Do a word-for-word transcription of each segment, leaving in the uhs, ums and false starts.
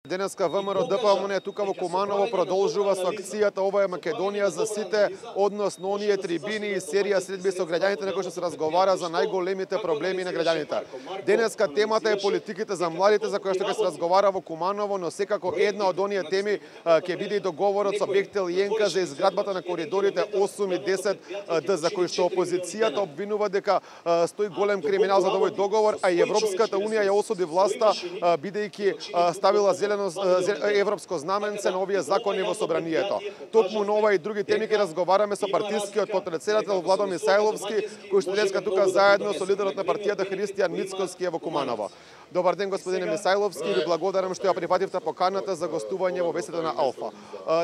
Денеска ВМРО Д П М Н тука во Куманово продолжува со акцијата Ова е Македонија за сите, односно оние трибини и серија средби со граѓаните на кои што се разговара за најголемите проблеми на граѓаните. Денеска темата е политиките за младите за која што ќе се разговара во Куманово, но секако една од оние теми ќе биде и договорот со Бехтел и Енка за изградбата на коридорите осум и десет Д, за кои што опозицијата обвинува дека стои голем криминал за овој договор, а и Европската унија ја осуди власта бидејќи ставила зелено европско знаменце на овие закони во собранието. Токму на ова и други теми ќе разговараме со партискиот потпредседател Владо Мисајловски, кој што денеска тука заедно со лидерот на партијата Христијан Мицкоски е во Куманово. Добар ден, господине Мисајловски, ви благодарам што ја прифативте поканата за гостување во беседа на Алфа.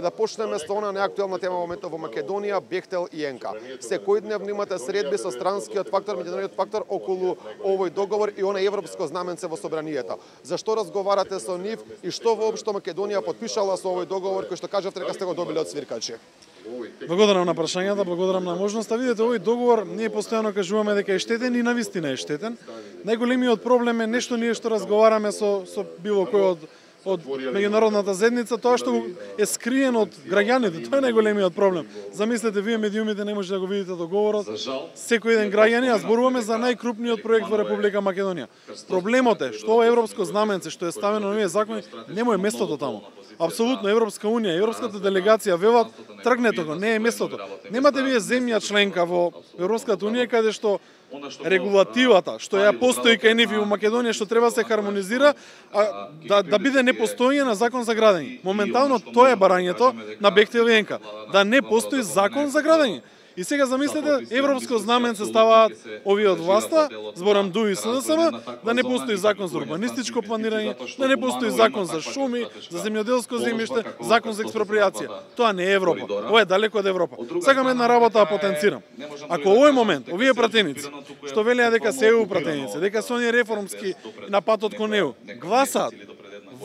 Да почнеме со она неактуелна тема во моментот во Македонија, Бехтел и Енка. Секојдневно имате средби со странскиот фактор, меѓународниот фактор околу овој договор и она европско знаменце во собранието. Зашто разговарате со нив и што воопшто Македонија потпишала со овој договор кој што кажавте дека сте го добиле од свиркачи? Благодарам на прашањата, благодарам на можноста. Видете, овој договор ние постојано кажуваме дека е штетен и навистина е штетен. Најголемиот проблем е нешто ние што разговараме со со било кој од од меѓународната заедница, тоа што е скриено од граѓаните, тоа е најголемиот проблем. Замислете, вие медиумите не можете да го видите договорот. Секој еден граѓанин, а зборуваме за најкрупниот проект во Република Македонија. Проблемот е што ова европско знаменце што е ставено на овие закони нема е местото таму. Апсолутно Европска унија, европската делегација велат тргнете го, не е местото. Немате вие земја членка во Европската унија каде што регулативата што ја постои кај нив и во Македонија што треба да се хармонизира, а, да, да биде непостоење на закон за градење. Моментално тоа е барањето на Бехтел и Енка, да не постои закон за градење. И сега замислете, европско знаменце ставаат овие од власта, зборам ДУ и С Д С М, да не постои закон за урбанистичко планирање, да не постои закон за шуми, за земјоделско земјиште, закон за експропријација. Тоа не е Европа. Ова е далеко од Европа. Сакам една работа да потенцирам. Ако овој момент, овие пратеници, што велеа дека се Е У пратеници, дека се оние реформски на патот кон Е У, гласаат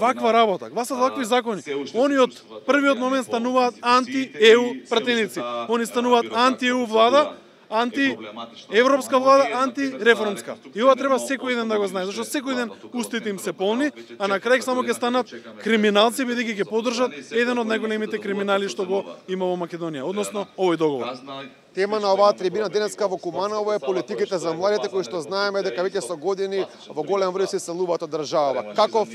ваква работа, гласат вакви закони. Они од првиот момент стануваат анти-Е У пратеници. Они стануваат анти-Е У влада, анти-европска влада, анти-реформска. И ова треба секој ден да го знае, зашто секој ден устите им се полни, а на крај само ќе станат криминалци бидејќи ќе поддржат еден од најголемите криминали што го има во Македонија, односно овој договор. Тема на оваа трибина денеска во Куманово е политиките за младите кои што знаеме дека веќе со години во голем број се селуваат од државава. Каков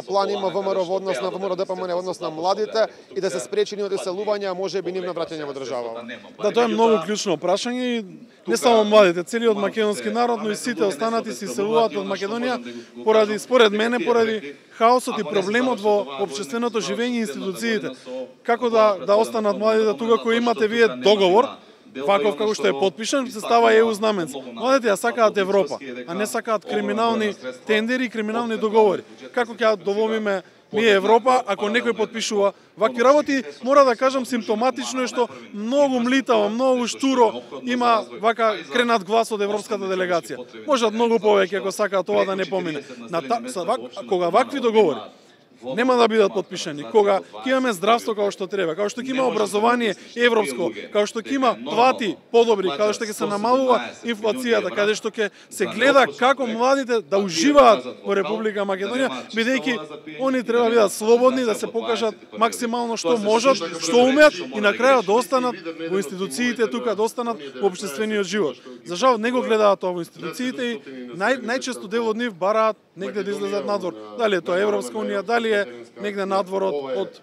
план има ВМРО во однос на ВМРО Д П М Н во однос на младите и да се спречи нивното селување, а може би нивно враќање во државава? Да, тоа е многу клучно прашање и не само младите, целиот македонски народ, но и сите останати се селуваат од Македонија поради, според мене, поради хаосот и проблемот во општественото живење и институциите. Како да да останат младите тука кои имате вие договор ваков како што е потпишан, се става Е У знаменце. Младите ја сакаат Европа, а не сакаат криминални тендери и криминални договори. Како ќе довомиме ние Европа ако некој потпишува вакви работи? Мора да кажам, симптоматично е што многу млитаво, многу штуро има вака кренат глас од европската делегација. Можат многу повеќе ако сакаат ова да не помине. На та, вак, кога вакви договори нема да бидат потпишани, кога ќе имаме здравство како што треба, како што ќе има образование европско, како што ќе има плати подобри, како што ќе се намалува инфлацијата, каде што ќе се гледа како младите да уживаат во Република Македонија, бидејќи они треба да бидат слободни, да се покажат максимално што можат, што умеат и на крајот да останат во институциите тука, да останат во општествениот живот. За жал не го гледаат тоа во институциите и нај, најчесто дел од нив бараат негде да излезат надвор. Дали е тоа Европска унија, дали е негде надвор од, од,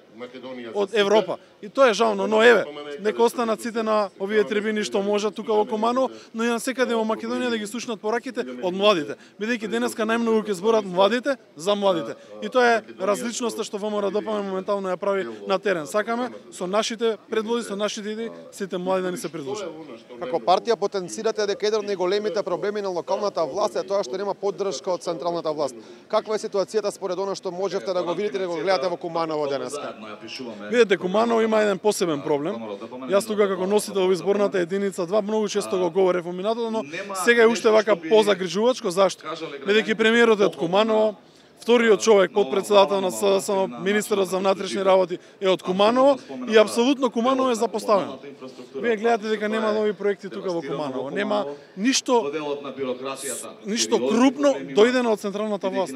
од Европа. И тоа е жално, но еве, нека останат сите на овие трибини што можат тука во Куманово, но и на секаде во Македонија да ги слушнат пораките од младите, бидејќи денеска најмногу ќе зборат младите за младите. И тоа е различноста што ВМРО Д П М Н моментално ја прави на терен. Сакаме со нашите предлози, со нашите идеи, сите млади да ни се придружат. Како партија потенцирате дека еден од најголемите проблеми на локалната власт е тоа што нема поддршка од централната власт. Каква е ситуацијата според она што можевте да го видите и да го гледате во Куманово денеска? Видете, Куманово има еден посебен проблем. Јас тука како носител во изборната единица два многу често го говорев во минатото, но сега е уште вака позагрижувачко. Зашто? Бидејќи премиерот е од Куманово, вториот човек, подпредседател на СДСМ, министерот за внатрешни работи е од Куманово и апсолутно Куманово е запоставено. Вие гледате дека нема нови проекти тука во Куманово, нема ништо ништо крупно дојдено од централната власт.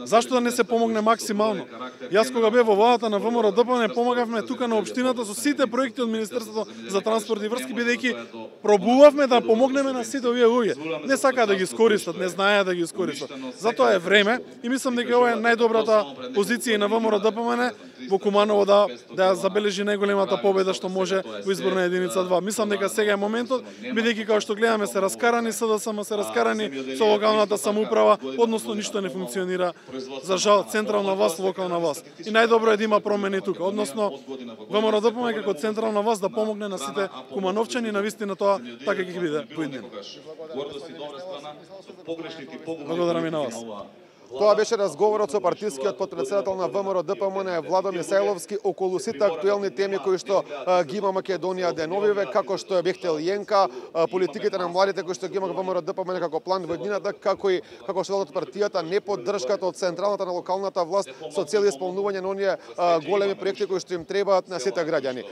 Зашто да не се помогне максимално? Јас кога бев во владата на ВМРО-ДПМН помагавме тука на општината со сите проекти од Министерството за транспорт и врски, бидејќи пробувавме да помогнеме на сите овие луѓе. Не сакаат да ги искористат, не знаеат да ги искористат. Затоа е време и мислам дека ова е најдобрата позиција на ВМРО-ДПМН во Куманово да да забележи најголемата победа што може во изборна единица два. Мислам дека сега е моментот, бидејќи како што гледаме се раскарани СДСМ, се раскарани со локалната самоуправа, односно ништо не функционира за жал централна власт, локална власт. И најдобро е да има промени тука, односно ВМРО-ДПМН како централна власт да помогне на сите кумановчани, на вистина тоа така ќе биде поиднено. Благодарам и на вас. Тоа беше разговорот со партискиот подпредседател на ВМРО-ДПМН Владо Мисајловски околу сите актуелни теми кои што а, ги има Македонија деновиве, како што е Бехтел Јенка, а, политиките на младите кои што ги има ВМРО-ДПМН како план во еднината, како и како што од партијата не поддршката од централната на локалната власт со цел исполнување на оние а, големи проекти кои што им требаат на сите граѓани.